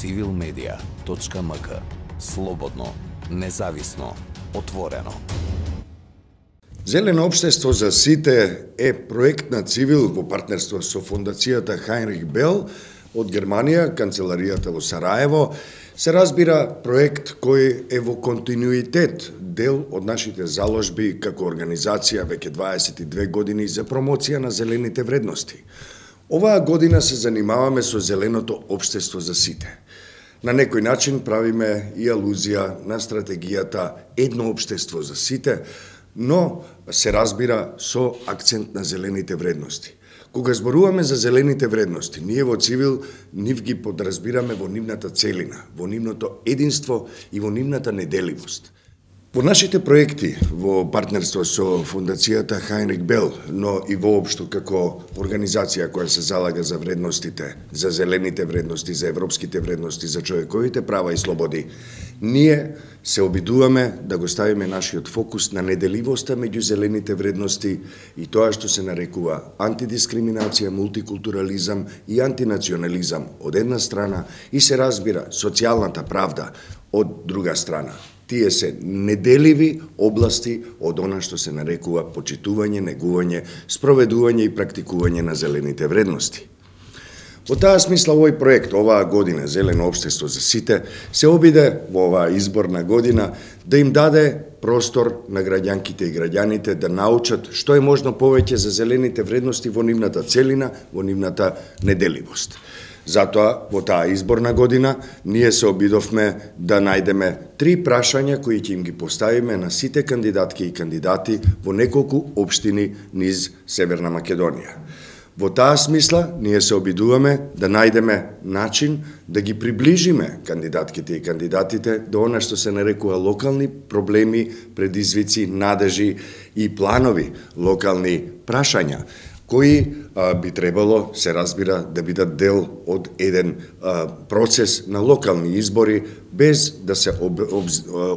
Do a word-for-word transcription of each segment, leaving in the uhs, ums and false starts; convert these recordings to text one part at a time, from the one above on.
цивил медија точка ем ка. Слободно, независно, отворено. Зелено општество за сите е проект на Цивил во партнерство со фондацијата Хайнрих Бел од Германија, канцеларијата во Сараево. Се разбира проект кој е во континуитет дел од нашите заложби како организација веќе дваесет и две години за промоција на зелените вредности. Оваа година се занимаваме со зеленото општество за сите. На некој начин правиме и алузија на стратегијата едно општество за сите, но се разбира со акцент на зелените вредности. Кога зборуваме за зелените вредности, ние во Цивил нив ги подразбираме во нивната целина, во нивното единство и во нивната неделивост. Во нашите проекти во партнерство со фондацијата Хайнрих Бел, но и воопшто како организација која се залага за вредностите, за зелените вредности, за европските вредности, за човековите права и слободи, ние се обидуваме да го ставиме нашиот фокус на неделивоста меѓу зелените вредности и тоа што се нарекува антидискриминација, мултикултурализам и антинационализам од една страна и се разбира социјалната правда од друга страна. Тие се неделиви области од она што се нарекува почитување, негување, спроведување и практикување на зелените вредности. Во таа смисла овој проект оваа година Зелено општество за сите се обиде во оваа изборна година да им даде простор на граѓанките и граѓаните да научат што е можно повеќе за зелените вредности во нивната целина, во нивната неделивост. Затоа, во таа изборна година, ние се обидовме да најдеме три прашања кои ќе им ги поставиме на сите кандидатки и кандидати во неколку општини низ Северна Македонија. Во таа смисла, ние се обидуваме да најдеме начин да ги приближиме кандидатките и кандидатите до она што се нарекува локални проблеми, предизвици, надежи и планови, локални прашања, кои а, би требало, се разбира, да бидат дел од еден а, процес на локални избори, без да се об, об,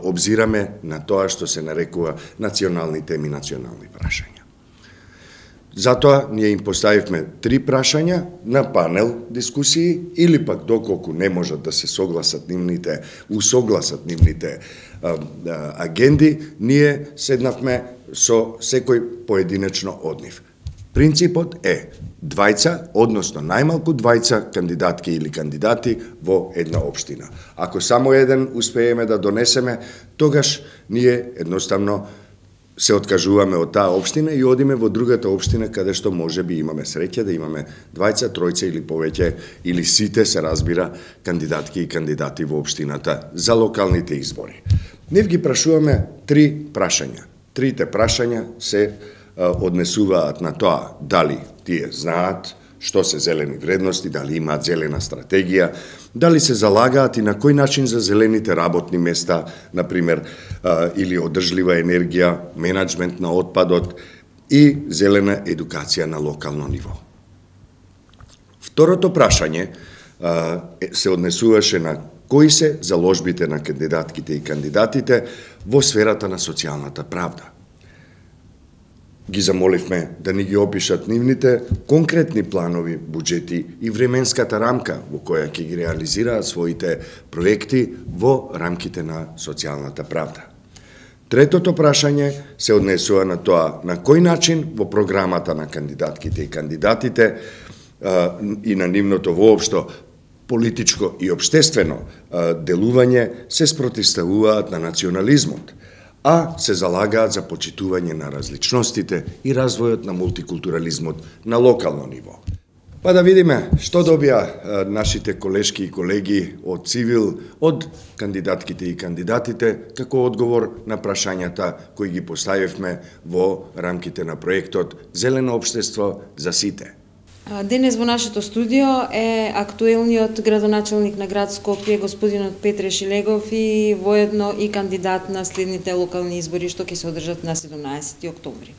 обзираме на тоа што се нарекува национални теми, национални прашања. Затоа ние им поставивме три прашања на панел дискусии или пак доколку не можат да се согласат нивните, усогласат нивните а, а, агенди, ние седнавме со секој поединечно од нив. Принципот е двајца, односно најмалку двајца кандидатки или кандидати во една општина. Ако само еден успееме да донесеме, тогаш ние едноставно се откажуваме од таа општина и одиме во другата општина каде што може би имаме среќа да имаме двајца, тројца или повеќе, или сите се разбира кандидатки и кандидати во општината за локалните избори. Нив ги прашуваме три прашања. Трите прашања се однесуваат на тоа дали тие знаат што се зелени вредности, дали имаат зелена стратегија, дали се залагаат и на кој начин за зелените работни места, например, или одржлива енергија, менаџмент на отпадот и зелена едукација на локално ниво. Второто прашање се однесуваше на кои се заложбите на кандидатките и кандидатите во сферата на социјалната правда. Ги замоливме да ни ги опишат нивните конкретни планови, буџети и временската рамка во која ќе ги реализираат своите проекти во рамките на социјалната правда. Третото прашање се однесува на тоа на кој начин во програмата на кандидатките и кандидатите а, и на нивното воопшто политичко и општествено а, делување се спротивставуваат на национализмот, а се залагаат за почитување на различностите и развојот на мултикултурализмот на локално ниво. Па да видиме што добија нашите колешки и колеги од Цивил, од кандидатките и кандидатите, како одговор на прашањата кои ги поставивме во рамките на проектот Зелено општество за сите. Денес во нашето студио е актуелниот градоначелник на град Скопје, господинот Петре Шилегов, и воедно и кандидат на следните локални избори што ќе се одржат на седумнаесети октомври.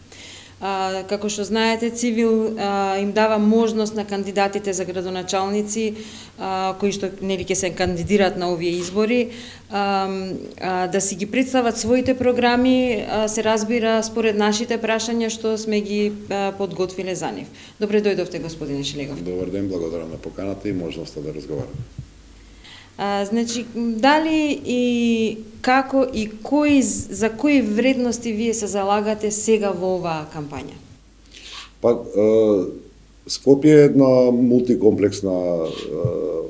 А, како што знаете, Цивил а, им дава можност на кандидатите за градоначалници а, кои што нели ќе се кандидираат на овие избори а, а, да си ги представат своите програми, а, се разбира според нашите прашања што сме ги а, подготвиле за нив. Добре дојдовте, господине Шилегов. Добар ден, благодарам на поканата и можноста да разговарам. А, значи, дали и како и кои, за кои вредности вие се залагате сега во оваа кампања? Па, Скопје е една мултикомплексна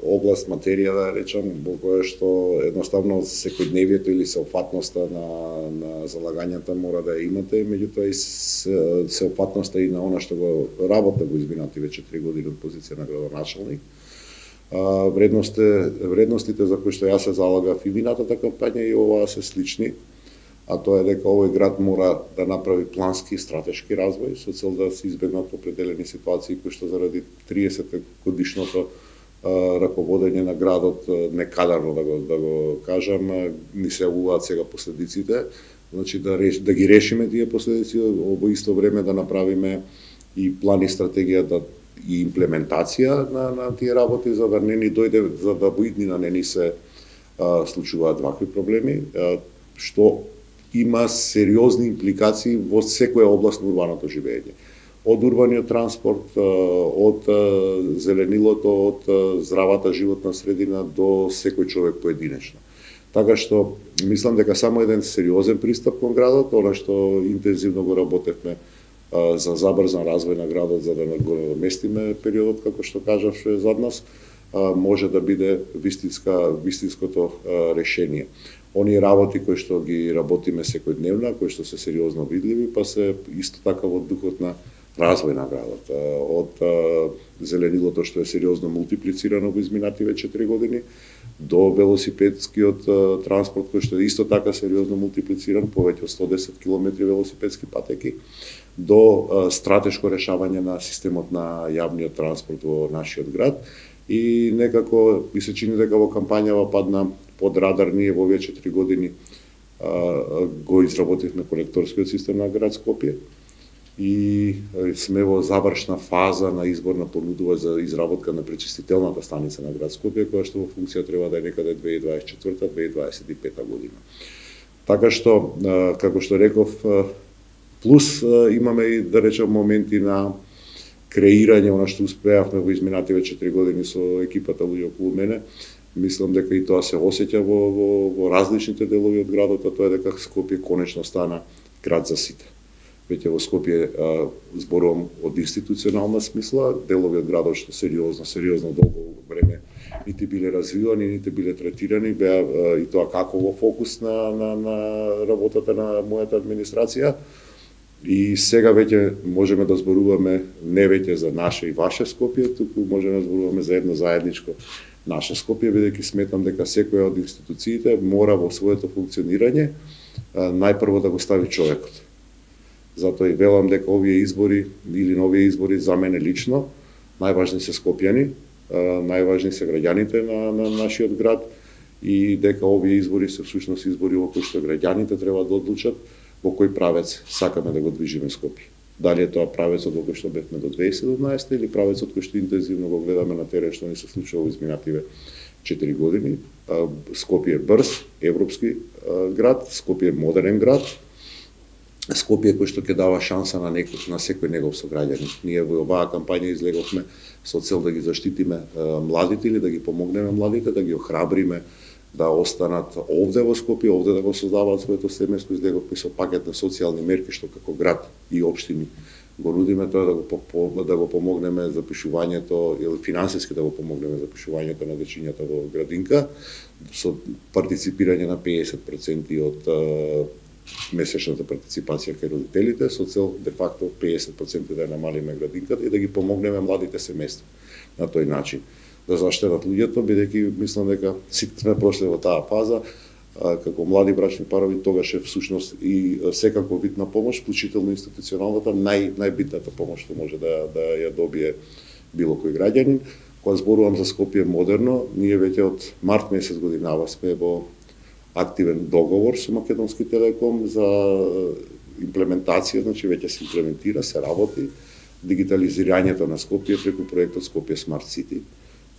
област, материја, да речам, во која што едноставно секојдневието или сеопфатноста на, на залагањата мора да ја имате, меѓутоа и сеопфатноста и на она што го работа го изминативе четири години од позиција на градоначалник. Вредностите, вредностите за кои што јас се залагав и минатата кампања и оваа се слични, а тоа е дека овој град мора да направи плански и стратешки развој со цел да се избегнат определени ситуации кои што заради триесет годишното раководење на градот, некадарно да го да го кажам, ни се јавуваат сега последиците. Значи да реш, да ги решиме тие последици, во исто време да направиме и план и стратегија да и имплементација на на тие работи за да не ни дојде, за да во иднина не ни се а, случуваат вакви проблеми, а, што има сериозни импликации во секоја област на урбаното живење. Од урбаниот транспорт, од зеленилото, од здравата животна средина до секој човек поединечно. Така што мислам дека само еден сериозен пристап кон градот, она што интензивно го работевме за забрзан развој на градот за да го наместиме периодот како што кажав што е зад нас, може да биде вистинска вистинското решение. Оние работи кои што ги работиме секојдневно, кои што се сериозно видливи, па се исто така во духот на развој на градот. Од зеленилото што е сериозно мултиплицирано во изминативе четири години, до велосипедскиот транспорт кој што е исто така сериозно мултиплициран, повеќе од сто десет километри велосипедски патеки, до стратешко решавање на системот на јавниот транспорт во нашиот град. И некако ми се чини дека во кампањава падна под радар. Ние во овие четири години а, го изработивме колекторскиот систем на град Скопје и сме во завршна фаза на избор на понудувач за изработка на пречистителната станица на град Скопје, која што во функција треба да е некаде две илјади дваесет и четврта - две илјади дваесет и пета година. Така што, а, како што реков, плюс а, имаме и, да речем, моменти на креирање, она што успеавме во изминативе четири години со екипата луѓе околу мене. Мислам дека и тоа се осеќа во, во, во различните делови од градот, а тоа е дека Скопје конечно стана град за сите. Веќе во Скопје а, зборувам од институционална смисла, делови од градот што сериозно, сериозно долго време нити биле развивани, нити биле третирани, беа а, и тоа како во фокус на, на, на работата на мојата администрација. И сега веќе можеме да зборуваме не веќе за наше и ваше Скопје, туку можеме да зборуваме за едно заедничко наше Скопје, бидејќи сметам дека секоја од институциите мора во своето функционирање најпрво да го стави човекот. Затоа и велам дека овие избори или нови избори за мене лично најважни се скопјани, најважни се граѓаните на, на нашиот град и дека овие избори се всушност избори во кои што граѓаните треба да одлучат во кој правец сакаме да го движиме Скопје. Дали е тоа правецот во кој што бевме до две илјади и седумнаесета или правецот кој што интензивно го гледаме на терен што ни се случува во изминативе четири години. Скопје е брз, европски град, Скопје е модерен град, Скопје кој што ќе дава шанса на некој, на секој негов сограѓанин. Ние во оваа кампања излеговме со цел да ги заштитиме младите или да ги помогнеме младите, да ги охрабриме да останат овде во Скопје, овде да го создаваат своето семејство, излеговме со пакет на социјални мерки што како град и општини го нудиме, тоа да го да го помогнеме за пишувањето или финансиски да го помогнеме за пишувањето на дечињата во градинка со партиципирање на педесет проценти од месечната партиципација кај родителите со цел де факто педесет проценти да ја намалиме градинката и да ги помогнеме младите семејства на тој начин да заштедат луѓето, бидејќи мислам дека сите сме прошли во таа фаза како млади брачни парови, тогаш е всушност и секако вид на помош, вклучително институционалната, нај најбитната помош што може да да ја добие било кој граѓанин. Кога зборувам за Скопје модерно, ние веќе од март месец годинава сме во активен договор со Македонски телеком за имплементација, значи веќе се имплементира, се работи дигитализирањето на Скопје преку проектот Скопје Смарт Сити.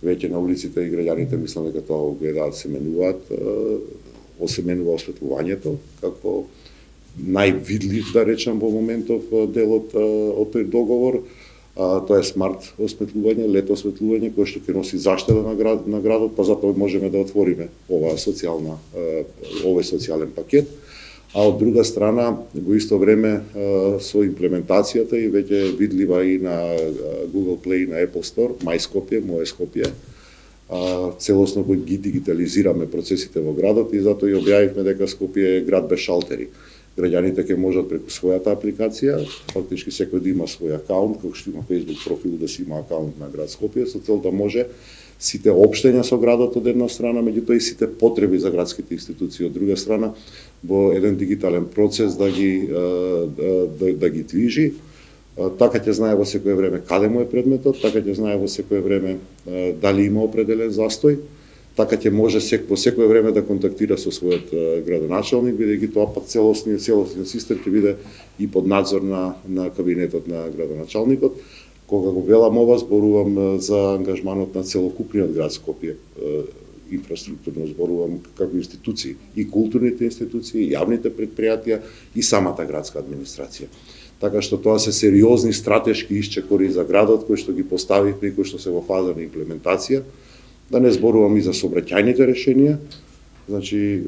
Веќе на улиците и граѓаните мислам дека тоа го гледаат, се менуваат, осеменува осветлувањето како највидлив, да речам, во моментов дел од, од тој договор. А, тоа е смарт осветлување, лед осветлување, кое што ќе носи заштеда на, град, на градот, па затоа можеме да отвориме оваа социјална, овој социјален пакет. А од друга страна, во исто време со имплементацијата и веќе видлива и на Google Play и на Apple Store, Мај Скопје, Моје Скопје, целосно го ги дигитализираме процесите во градот и затоа и објавивме дека Скопје е град без шалтери. Граѓаните ќе можат преку својата апликација, фактички секој да има свој акаунт, како што има Facebook профил да си има акаунт на град Скопје, со цел да може сите општења со градот од една страна, меѓутоа и сите потреби за градските институции од друга страна, во еден дигитален процес да ги да, да, да ги движи. Така ќе знае во секое време каде му е предметот, така ќе знае во секое време дали има определен застој, така ќе може сек, во секое време да контактира со својот градоначалник, бидејќи тоа пак целосниот целосниот систем ќе биде и под надзор на на кабинетот на градоначалникот. Кога го велам ова, зборувам за ангажманот на целокупниот град Скопје, инфраструктурно зборувам како институции, и културните институции, и јавните предпријатија, и самата градска администрација. Така што тоа се сериозни стратешки исчекори за градот кои што ги поставивме и кои што се во фаза на имплементација. Да не зборувам и за сообраќајните решенија. Значи,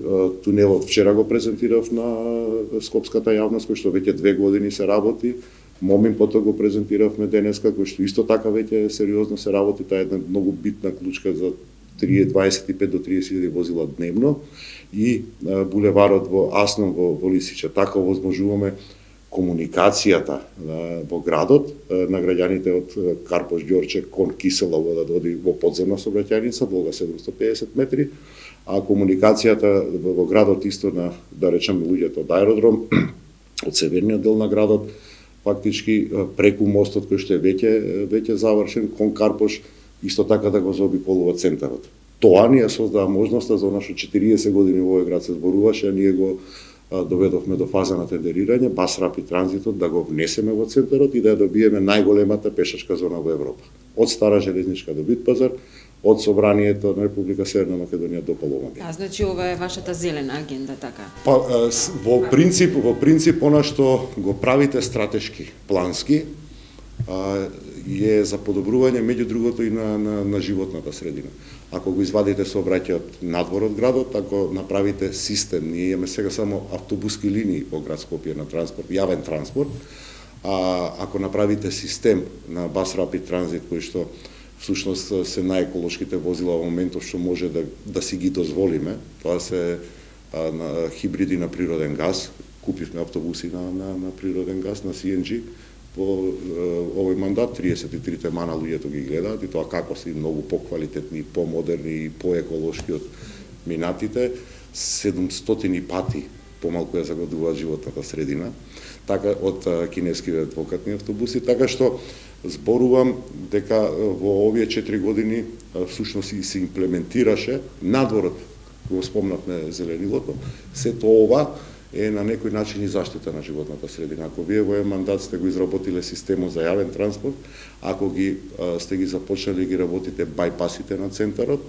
тунелот вчера го презентирав на скопската јавност, кој што веќе две години се работи. Момин потоа го презентиравме денеска, кој што исто така веќе сериозно се работи. Таа е една многу битна клучка за дваесет и пет до триесет илјади возила дневно. И булеварот во Аснон во, во Лисиче. Така овозможуваме комуникацијата во градот на граѓаните од Карпош Ѓорче кон Киселово да доди во подземна сообраќајница, долга седумстотини и педесет метри, а комуникацијата во градот исто на, да речеме, луѓето од аеродром, од северниот дел на градот, фактички преку мостот кој што е веќе веќе завршен кон Карпош, исто така да го заобиколува центарот. Тоа ни ја создава можноста за она што четириесет години во овој град се зборуваше, а ние го доведовме до фаза на тендерирање, Бас Рапид транзитот да го внесеме во центарот и да ја добиеме најголемата пешачка зона во Европа. Од Стара железничка до Битпазар, од Собранието на Република Северна Македонија до Паломаги. А значи ова е вашата зелена агенда, така? Па во принцип, во принцип она што го правите стратешки, плански, е за подобрување меѓу другото и на, на, на животната средина. Ако го извадите сообраќајот надвор од градот, ако направите систем, ние имаме сега само автобуски линии во град Скопје на транспорт, јавен транспорт, а ако направите систем на Бас Рапид транзит кој што всушност се најеколошките возила во моментов што може да да си ги дозволиме, тоа се а, на хибриди на природен газ, купивме автобуси на на, на природен газ на Си Ен Джи. По овој мандат триесет и трите мана луѓето ги гледаат и тоа како се многу поквалитетни, помодерни и поеколошки од минатите, седумстотини пати помалку ја загадуваат животната средина, така од кинеските двокатни автобуси, така што зборувам дека во овие четири години всушност и се имплементираше надворот, го спомнавме зеленилото, сето ова е на некој начин и заштита на животната средина. Ако вие во еден мандат сте го изработиле системот за јавен транспорт, ако ги а, сте ги започнали ги работите бајпасите на центарот,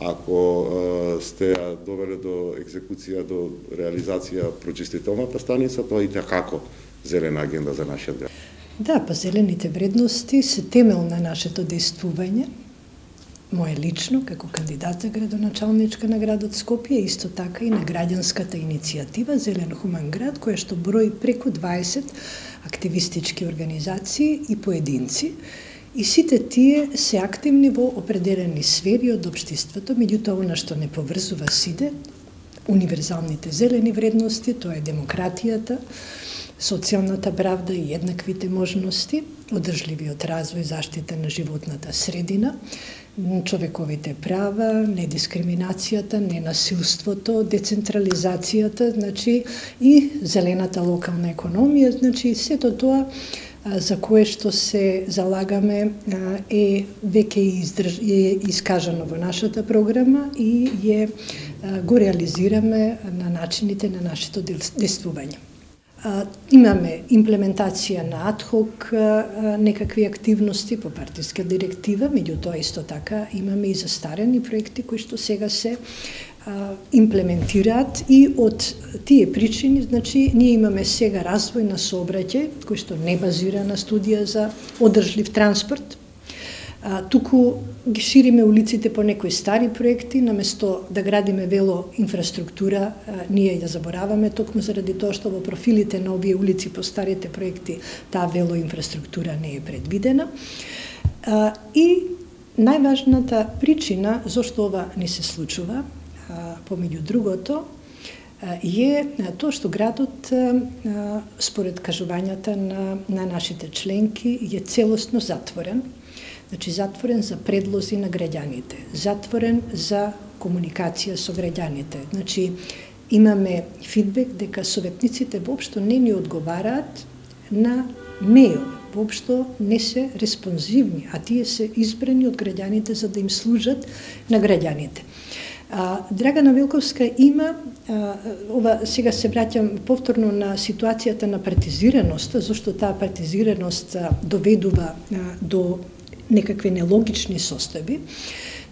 ако а, сте ја довеле до екзекуција, до реализација прочистителната станица, тоа и како зелена агенда за нашиот град. Да, па зелените вредности се темел на нашето действување. Моje лично, како кандидат за градоначалничка на градот Скопје, исто така и на граѓанската иницијатива Зелен хуман град, која што брои преку дваесет активистички организации и поединци, и сите тие се активни во определени сфери од општеството, меѓутоа она што не поврзува сите, универзалните зелени вредности, тоа е демократијата, социјалната правда и еднаквите можности, одржливиот развој, заштита на животната средина, човековите права, недискриминацијата, ненасилството, децентрализацијата, значи и зелената локална економија, значи сето тоа за кое што се залагаме е веќе издрж... е искажано во нашата програма и е го реализираме на начините на нашето действување. Имаме имплементација на адхок некакви активности по партиска директива, меѓутоа исто така имаме и застарени проекти кои што сега се имплементираат и од тие причини, значи, ние имаме сега развој на сообраќај, кој што не базира на студија за одржлив транспорт, а, туку ги шириме улиците по некои стари проекти, наместо да градиме вело инфраструктура, а, ние ја забораваме токму заради тоа што во профилите на овие улици по старите проекти таа вело инфраструктура не е предвидена. А, и најважната причина зашто ова не се случува, помеѓу другото, е тоа што градот, според кажувањата на, на нашите членки, е целосно затворен. Значи, затворен за предлози на граѓаните, затворен за комуникација со граѓаните. Значи, имаме фидбек дека советниците воопшто не ни одговараат на мејл, воопшто не се респонзивни, а тие се избрани од граѓаните за да им служат на граѓаните. А, Драгана Велковска има, а, ова сега се враќам повторно на ситуацијата на партизираноста, зашто таа партизираност а, доведува а, до некакви нелогични состојби.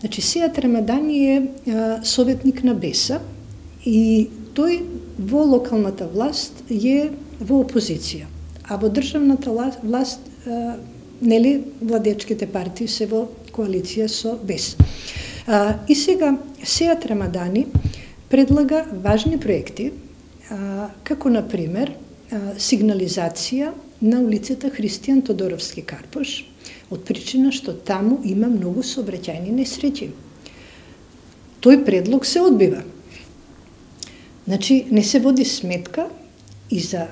Значи, Сејат Рамадани е а, советник на Беса и тој во локалната власт е во опозиција, а во државната власт а, нели владечките партии се во коалиција со Бес. А, и сега Сејат Рамадани предлага важни проекти, а, како на пример а, сигнализација на улицата Христијан Тодоровски Карпош, од причина што таму има многу сообраќајни несреќи. Тој предлог се одбива. Значи, не се води сметка и за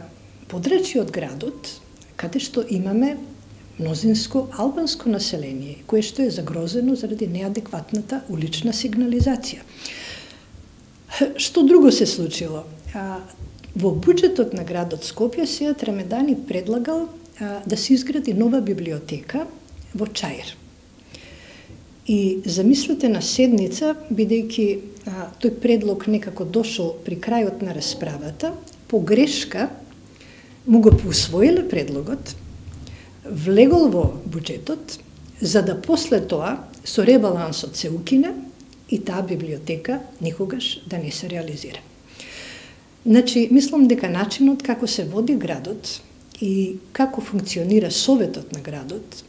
подрачје од градот, каде што имаме мнозинско албанско население, кое што е загрозено заради неадекватната улична сигнализација. Што друго се случило? А, во буџетот на градот Скопје Сејат Рамадани предлагал а, да се изгради нова библиотека во Чаир. И замислете на седница, бидејќи а, тој предлог некако дошол при крајот на расправата, по грешка му го поусвоиле предлогот, влегол во буџетот, за да после тоа со ребалансот се укине и таа библиотека никогаш да не се реализира. Значи, мислам дека начинот како се води градот и како функционира советот на градот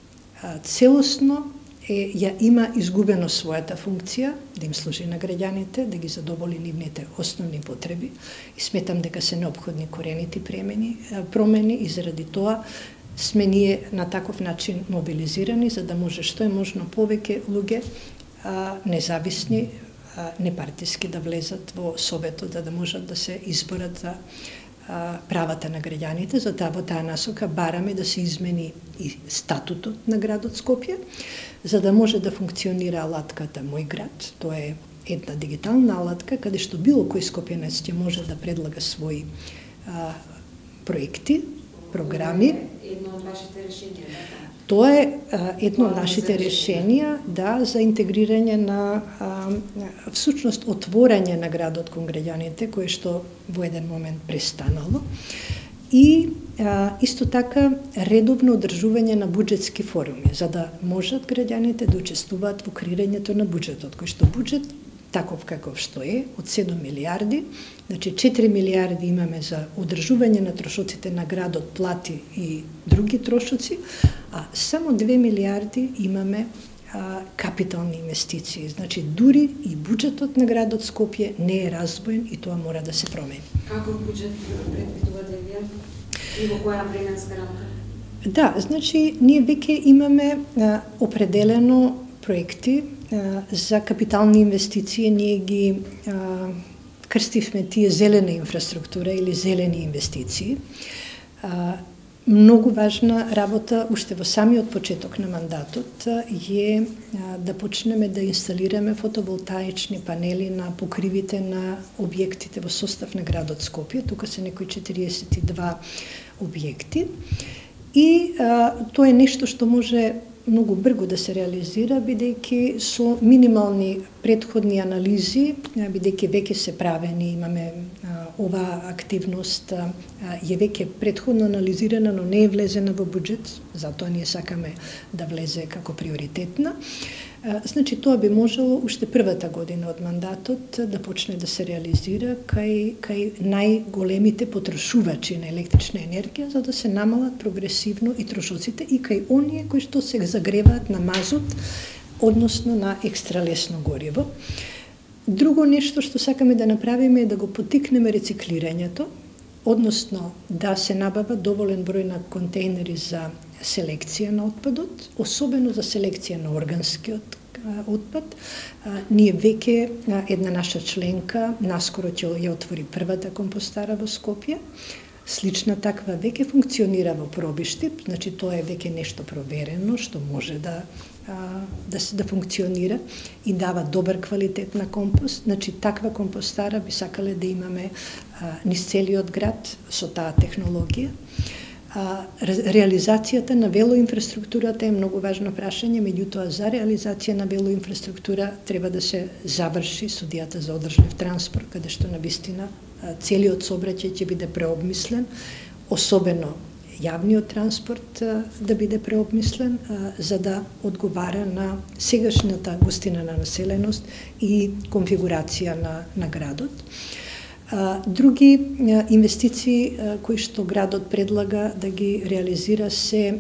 целосно е, ја има изгубено својата функција да им служи на граѓаните, да ги задоволи нивните основни потреби и сметам дека се неопходни коренити промени, промени и заради тоа сме ние на таков начин мобилизирани за да може што е можно повеќе луѓе а, независни, а, непартиски да влезат во советот, да, да можат да се изборат за а, правата на граѓаните. За таа во таа насока бараме да се измени и статутот на градот Скопје, за да може да функционира алатката Мој град. Тоа е една дигитална алатка каде што било кој скопјанец ќе може да предлага своји а, проекти, програми. Едно од вашите решенија, да? Тоа е а, едно од нашите решенија, да, за интегрирање на, а, всушност, отворање на градот кон граѓаните, кое што во еден момент престанало. И а, исто така редовно одржување на буџетски форуми, за да можат граѓаните да учествуваат во креирањето на буџетот, кој што буџет таков каков што е, од седум милиарди, значи четири милиарди имаме за одржување на трошоците на градот, плати и други трошоци, а само две милиарди имаме а, капитални инвестиции. Значи, дури и буџетот на градот Скопје не е раздвоен и тоа мора да се промени. Каков буџет предвидувате вие и во која временска рамка? Да, значи, ние веќе имаме а, определено проекти а, за капитални инвестиции. Ние ги а, крстивме тие зелена инфраструктура или зелени инвестиции. А, многу важна работа уште во самиот почеток на мандатот е а, да почнеме да инсталираме фотоволтаични панели на покривите на објектите во состав на градот Скопје. Тука се некои четириесет и два објекти. И а, тоа е нешто што може многу брзо да се реализира, бидејќи со минимални претходни анализи, бидејќи веќе се правени, имаме а, оваа активност а, е веќе претходно анализирана, но не е влезена во буџет, затоа ние сакаме да влезе како приоритетна. Значи, тоа би можело уште првата година од мандатот да почне да се реализира кај, кај најголемите потрошувачи на електрична енергија, за да се намалат прогресивно и трошоците и кај оние кои што се загреваат на мазут, односно на екстралесно гориво. Друго нешто што сакаме да направиме е да го потикнеме рециклирањето, односно да се набава доволен број на контейнери за селекција на отпадот, особено за селекција на органскиот отпад. Ние веќе, една наша членка, наскоро ќе ја отвори првата компостара во Скопје. Слична таква веќе функционира во Пробиштип, значи тоа е веќе нешто проверено што може да да се да функционира и дава добар квалитет на компост. Значи таква компостара би сакале да имаме низ целиот град со таа технологија. А, реализацијата на велоинфраструктурата е многу важно прашање, меѓутоа за реализација на велоинфраструктура треба да се заврши студијата за одржлив транспорт, каде што навистина целиот сообраќај ќе биде преобмислен, особено јавниот транспорт да биде преобмислен, за да одговара на сегашната густина на населеност и конфигурација на, на градот. Други инвестиции кои што градот предлага да ги реализира се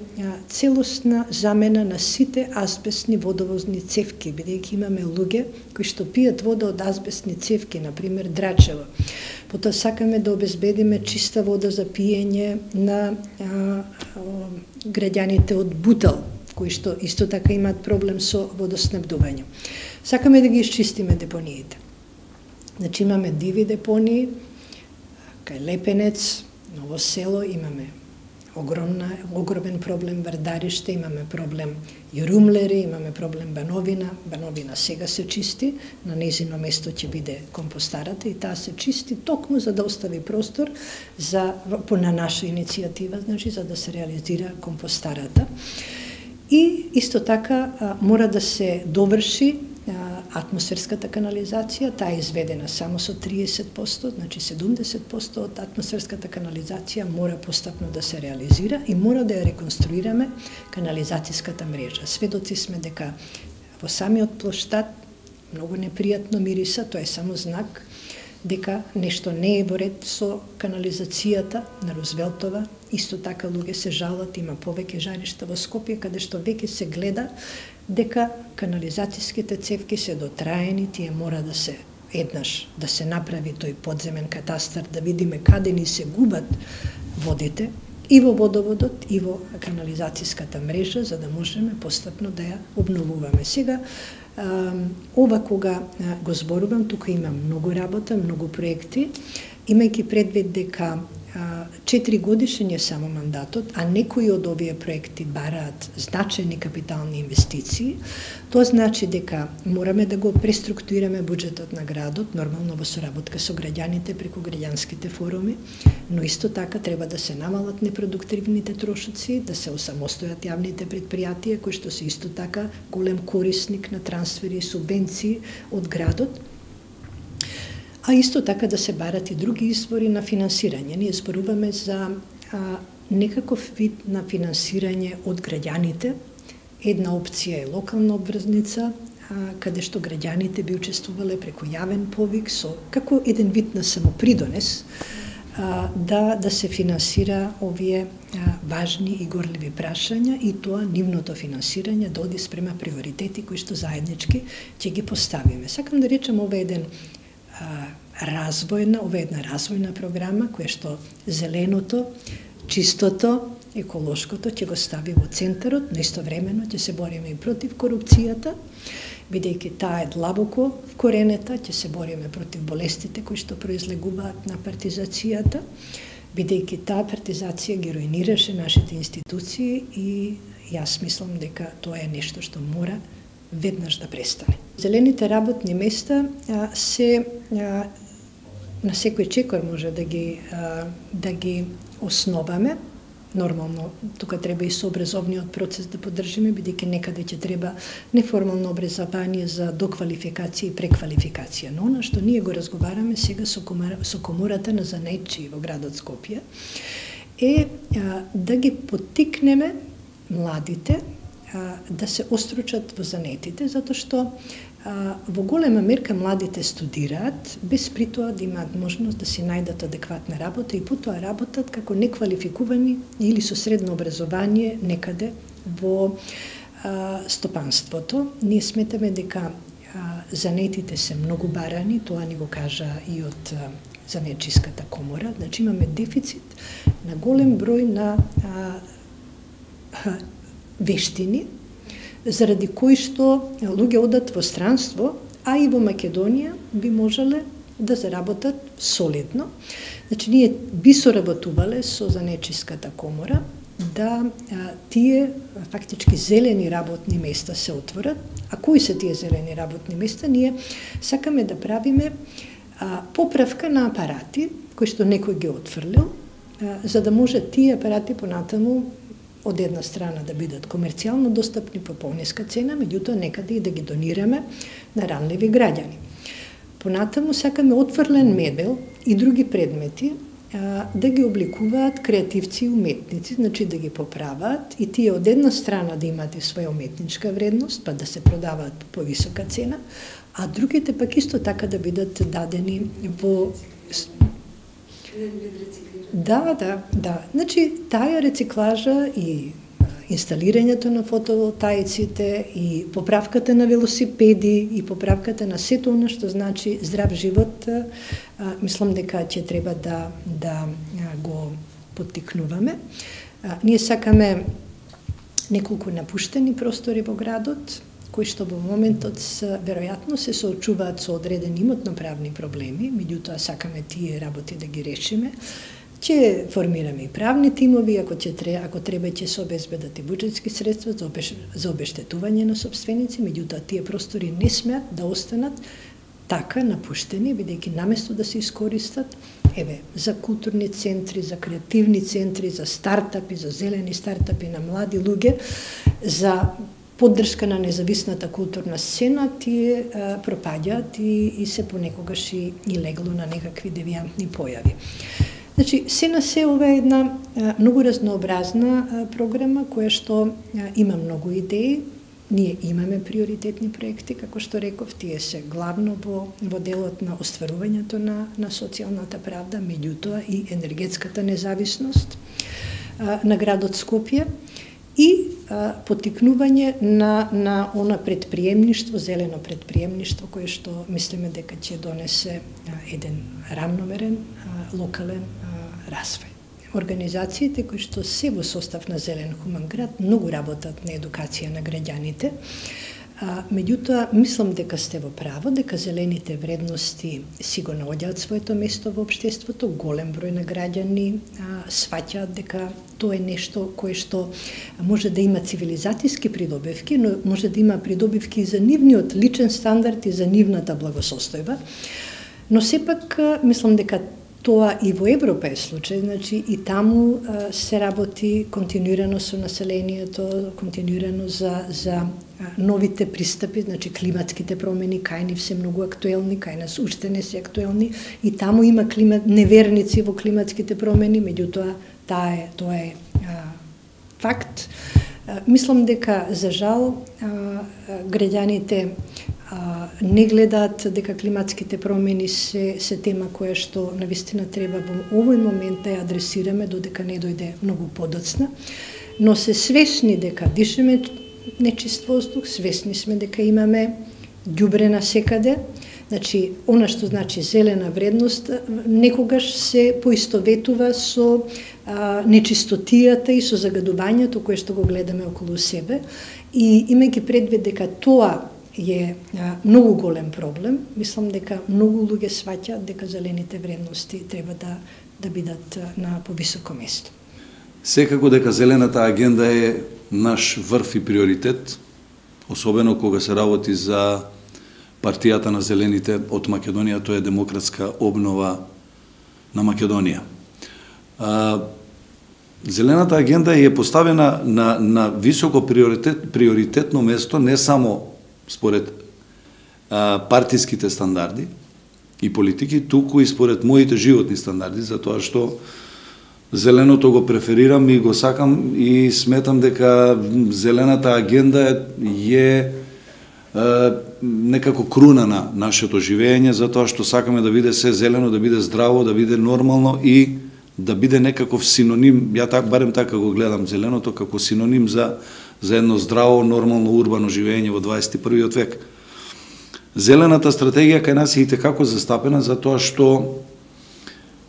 целосна замена на сите азбестни водовозни цевки, бидејќи имаме луѓе кои што пијат вода од азбестни цевки, например Драчево. Потоа сакаме да обезбедиме чиста вода за пиење на а, а, граѓаните од Бутал, кои што исто така имаат проблем со водоснабдување. Сакаме да ги исчистиме депониите. Значи имаме диви депонии, кај Лепенец, Ново село, имаме огромна, огромен проблем Вардариште, имаме проблем Јурумлери, имаме проблем Бановина. Бановина сега се чисти, на нејзино место ќе биде компостарата и таа се чисти токму за да остави простор за, по на наша иницијатива, значи за да се реализира компостарата. И исто така а, мора да се доврши атмосферската канализација, таа е изведена само со триесет проценти, значи седумдесет проценти од атмосферската канализација мора постапно да се реализира и мора да ја реконструираме канализацијската мрежа. Сведоци сме дека во самиот плоштад многу непријатно мириса, тоа е само знак дека нешто не е во ред со канализацијата на Рузвелтова. Исто така луѓе се жалат, има повеќе жаришта во Скопје, каде што веќе се гледа дека канализацијските цевки се дотраени, тие мора да се еднаш да се направи тој подземен катастар, да видиме каде ни се губат водите и во водоводот и во канализацијската мрежа, за да можеме постапно да ја обновуваме. Сега ова кога го зборувам, тука има многу работа, многу проекти, имајќи предвид дека четири годишен е само мандатот, а некои од овие проекти бараат значајни капитални инвестиции, тоа значи дека мораме да го преструктурираме буџетот на градот, нормално во соработка со граѓаните преку граѓанските форуми, но исто така треба да се намалат непродуктивните трошоци, да се осамостојат јавните предпријатија кои што се исто така голем корисник на трансфери и субвенции од градот. А исто така да се барат и други извори на финансирање. Ние зборуваме за а, некаков вид на финансирање од граѓаните. Една опција е локална обврзница, а, каде што граѓаните би учествувале преку јавен повик со како еден вид на самопридонес а, да да се финансира овие а, важни и горливи прашања и тоа нивното финансирање да оди спрема приоритети кои што заеднички ќе ги поставиме. Сакам да речем ова еден развојна, ова е една развојна програма која што зеленото, чистото, еколошкото ќе го стави во центарот, но истовремено ќе се бориме и против корупцијата, бидејќи таа е длабоко вкоренета, ќе се бориме против болестите кои што произлегуваат на партизацијата, бидејќи таа партизација ги руинираше нашите институции и јас мислам дека тоа е нешто што мора веднаш да престане. Зелените работни места а, се а, на секој чекор може да ги а, да ги основаме. Нормално, тука треба и со образовниот процес да поддржиме, бидејќи некаде ќе треба неформално образование за доквалификација и преквалификација. Но она што ние го разговараме сега со, комар, со комората на занаетчии во градот Скопје е а, да ги поттикнеме младите да се остручат во занетите, затоа што во голема мерка младите студираат, без при тоа да имаат можност да си најдат адекватна работа и потоа работат како неквалификувани или со средно образование некаде во стопанството. Ние сметаме дека занетите се многу барани, тоа ни го кажа и од Занетчиската комора, значи имаме дефицит на голем број на а, а, вештини, заради кои што луѓе одат во странство, а и во Македонија би можеле да заработат солидно. Значи, ние би соработувале со Занетчиската комора да а, тие фактички зелени работни места се отворат. А кои се тие зелени работни места? Ние сакаме да правиме а, поправка на апарати кои што некој ги отфрлил, а, за да може тие апарати понатаму од една страна да бидат комерцијално достапни по пониска цена, меѓутоа некаде и да ги донираме на ранливи граѓани. Понатаму сакаме отфрлен мебел и други предмети а, да ги обликуваат креативци и уметници, значи да ги поправаат и тие од една страна да имаат и своја уметничка вредност, па да се продаваат по повисока цена, а другите пак исто така да бидат дадени во... Да, да, да. Значи, таа рециклажа и инсталирањето на фотоволтаиците и поправката на велосипеди и поправката на сето она што значи здрав живот, а, мислам дека ќе треба да, да го поттикнуваме. А, ние сакаме неколку напуштени простори во градот, кои што во моментот веројатно се соочуваат со одредени имотно-правни проблеми, меѓутоа сакаме тие работи да ги решиме. Ќе формираме и правни тимови, ако ќе треба, ако треба ќе се обезбедат и буџетски средства за, обеш, за обештетување на собственици, меѓутоа тие простори не смеат да останат така напуштени, бидејќи наместо да се искористат, еве, за културни центри, за креативни центри, за стартапи, за зелени стартапи на млади луѓе, за поддршка на независната културна сцена, тие а, пропаѓаат и, и се понекогаш и, и легло на некакви девијантни појави. Значи, се на се ова е една а, многу разнообразна а, програма, која што а, има многу идеи. Ние имаме приоритетни проекти, како што реков, тие се главно во, во делот на остварувањето на, на социјалната правда, меѓутоа и енергетската независност а, на градот Скопје и а, поттикнување на, на она предприемништво, зелено предприемништво, кое што мислиме дека ќе донесе а, еден рамномерен, а, локален а, развој. Организациите кои што се во состав на Зелен хуман град многу работат на едукација на граѓаните. А, меѓутоа, мислам дека сте во право, дека зелените вредности си го наоѓаат своето место во општеството, голем број на граѓани а, сваќаат дека тоа е нешто кое што може да има цивилизатиски придобивки, но може да има придобивки и за нивниот личен стандард и за нивната благосостојба. Но сепак, мислам дека тоа и во Европа е случај, значи и таму а, се работи континуирано со населението, континуирано за, за а, новите пристапи, значи климатските промени, кај нив се многу актуелни, кај нас уште не се актуелни, и таму има климат, неверници во климатските промени, меѓутоа таа е, тоа е а, факт. А, мислам дека, за жал, а, граѓаните не гледаат дека климатските промени се, се тема која што навистина треба во овој момент да ја адресираме, додека не дојде многу подоцна, но се свесни дека дишеме нечист воздух, свесни сме дека имаме ѓубре насекаде, значи, она што значи зелена вредност, некогаш се поистоветува со а, нечистотијата и со загадувањето кое што го гледаме околу себе, и имајќи предвид дека тоа е а, многу голем проблем, мислам дека многу луѓе сваќаат дека зелените вредности треба да, да бидат на повисоко место. Секако дека зелената агенда е наш врв и приоритет, особено кога се работи за партијата на зелените од Македонија, тоа е демократска обнова на Македонија. А, зелената агенда е поставена на, на високо приоритет, приоритетно место не само според а, партиските стандарди и политики, туку и според моите животни стандарди, затоа што зеленото го преферирам и го сакам и сметам дека зелената агенда е, е некако круна на нашето живење, затоа што сакаме да биде се зелено, да биде здраво, да биде нормално и да биде некаков синоним, ја так, барем така го гледам зеленото, како синоним за, за едно здраво, нормално, урбано живење во дваесет и првиот век. Зелената стратегија кај нас е и текако застапена, затоа што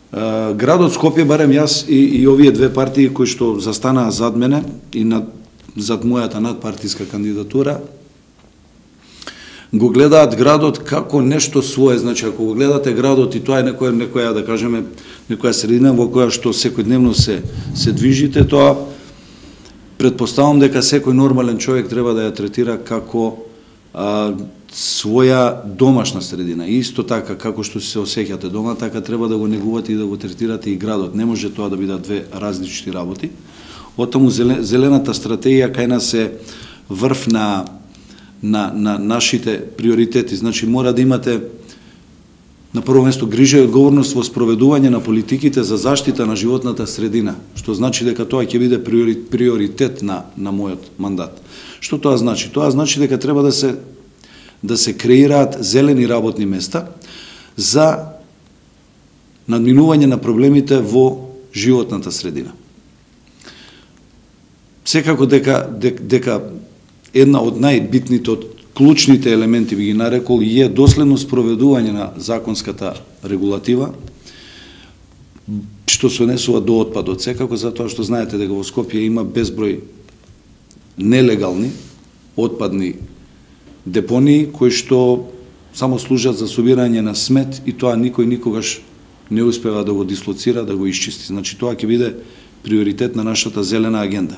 е, градот Скопје, барем јас и, и овие две партии кои што застанаа зад мене и над, зад мојата надпартиска кандидатура, го гледаат градот како нешто свое. Значи, ако го гледате градот и тоа е некоја, некоја да кажеме, некоја средина во која што секојдневно се, се движите, тоа предпоставам дека секој нормален човек треба да ја третира како а, своја домашна средина. И исто така, како што се осеќате дома, така треба да го негувате и да го третирате и градот. Не може тоа да бидат две различни работи. Оттаму зелената стратегија кај нас е врв на На, на нашите приоритети. Значи, мора да имате на прво место грижа и одговорност во спроведување на политиките за заштита на животната средина, што значи дека тоа ќе биде приоритет на, на мојот мандат. Што тоа значи? Тоа значи дека треба да се, да се креираат зелени работни места за надминување на проблемите во животната средина. Секако дека, дека, дека една од најбитните, од клучните елементи би ги нарекол, е доследно спроведување на законската регулатива, што се однесува до отпадот. Секако затоа што знаете дека во Скопје има безброј нелегални отпадни депонии кои што само служат за собирање на смет и тоа никој никогаш не успева да го дислоцира, да го исчисти. Значи тоа ќе биде приоритет на нашата зелена агенда.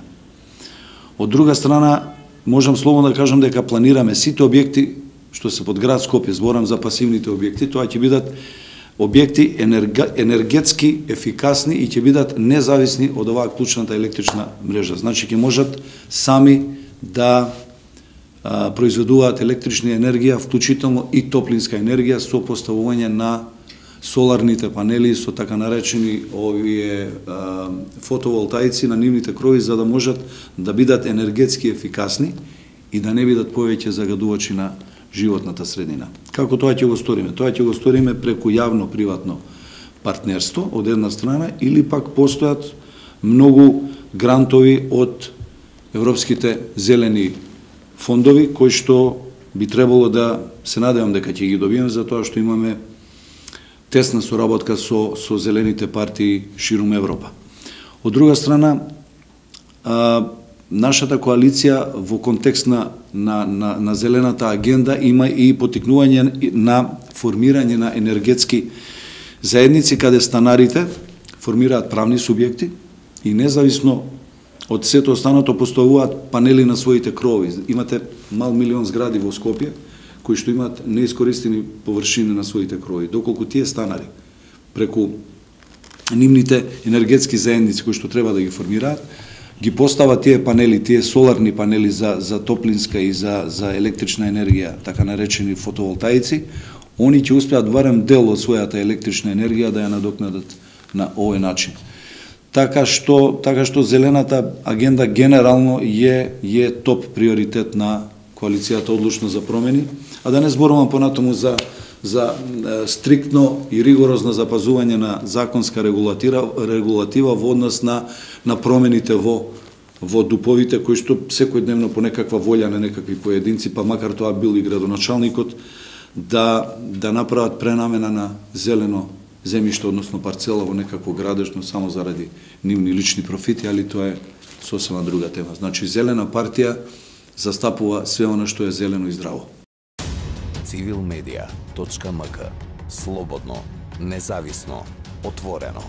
Од друга страна, можам слободно да кажам дека планираме сите објекти што се под град Скопје, зборам за пасивните објекти, тоа ќе бидат објекти енерга, енергетски ефикасни и ќе бидат независни од оваа клучната електрична мрежа. Значи ќе можат сами да а, произведуваат електрична енергија, вклучително и топлинска енергија со поставување на соларните панели, со така наречени овие а, фотоволтаици на нивните крови, за да можат да бидат енергетски ефикасни и да не бидат повеќе загадувачи на животната средина. Како тоа ќе го сториме? Тоа ќе го сториме преку јавно-приватно партнерство од една страна, или пак постојат многу грантови од европските зелени фондови кои што би требало да се надевам дека ќе ги добиеме, затоа што имаме тесна соработка со, со зелените партии ширум Европа. Од друга страна, а, нашата коалиција во контекст на, на, на, на зелената агенда има и потикнување на формирање на енергетски заедници каде станарите формираат правни субјекти и независно од сето останато поставуваат панели на своите крови. Имате мал милион згради во Скопје кои што имаат неискористени површини на своите крови. Доколку тие станари преку нивните енергетски заедници кои што треба да ги формираат, ги постават тие панели, тие соларни панели за, за топлинска и за, за електрична енергија, така наречени фотоволтаици, они ќе успеат барем дел од својата електрична енергија да ја надокнадат на овој начин. Така што, така што зелената агенда генерално е, е топ приоритет на коалицијата Одлучно за промени, а да не зборувам понатаму за за е, стриктно и ригорозно запазување на законска регулатива, регулатива во однос на на промените во во дуповите кои што секојдневно по некаква волја на некакви поединци, па макар тоа бил и градоначалникот, да да направат пренамена на зелено земјиште, односно парцела во некакво градежно само заради нивни лични профити, али тоа е сосема друга тема. Значи зелена партија застапува све оно што е зелено и здраво. цивил медија точка ем ка. Слободно, независно, отворено.